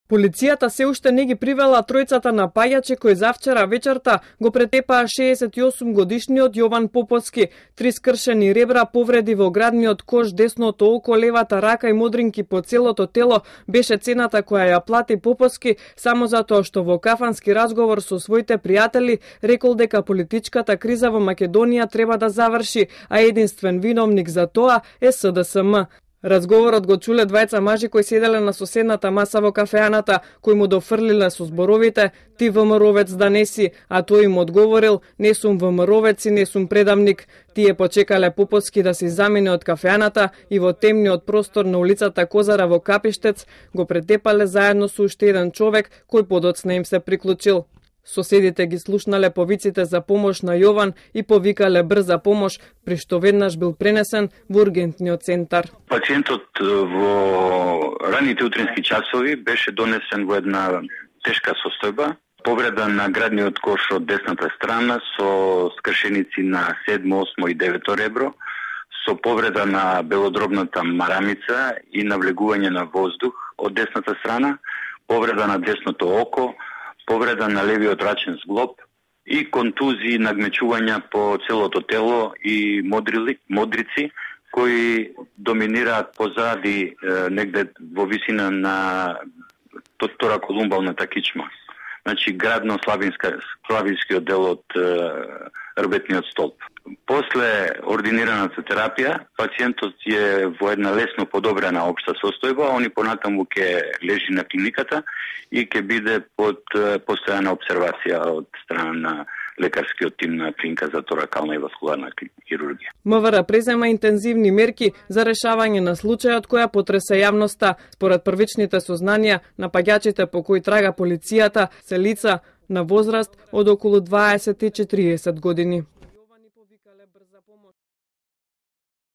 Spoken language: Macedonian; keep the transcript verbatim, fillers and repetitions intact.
Полицијата се уште не ги привела тројцата напаѓачи кои завчера вечерта го претепаа шеесет и осум годишниот Јован Поповски. Три скршени ребра, повреди во градниот кош, десното око, левата рака и модринки по целото тело беше цената која ја плати Поповски само затоа што во кафански разговор со своите пријатели рекол дека политичката криза во Македонија треба да заврши, а единствен виновник за тоа е С Д С М. Разговорот го чуле двајца мажи кои седеле на соседната маса во кафеаната, кои му дофрлиле со зборовите "Ти ВМРО-вец да не си", а тој им одговорил "Не сум ВМРО-вец и не сум предавник". Тие почекале Поповски да се замине од кафеаната и во темниот простор на улицата Козара во Капиштец го претепале заедно со уште еден човек кој подоцна им се приклучил. Соседите ги слушнале повиците за помош на Јован и повикале брза помош, при што веднаш бил пренесен во ургентниот центар. Пациентот во раните утрински часови беше донесен во една тешка состојба, повреда на градниот кош од десната страна со скршеници на седмо, осмо и девето ребро, со повреда на белодробната марамица и навлегување на воздух од десната страна, повреда на десното око, повреда на левиот рачен зглоб и контузии, нагмечувања по целото тело и модрили, модрици кои доминираат позади негде во висина на тораколумбалната кичма. Значи градно-славинска славинскиот дел од рбетниот столб. После ординираната терапија, пациентот е во една лесно подобрена општа состојба, а они понатаму ќе лежи на клиниката и ќе биде под постојана обсервација од страна на лекарскиот тим на клиника за торакална и васкуларна хирургија. МВР презема интензивни мерки за решавање на случајот која потреса јавноста. Според првичните сознанија, напаѓачите по кои трага полицијата се лица на возраст од околу дваесет и четириесет години.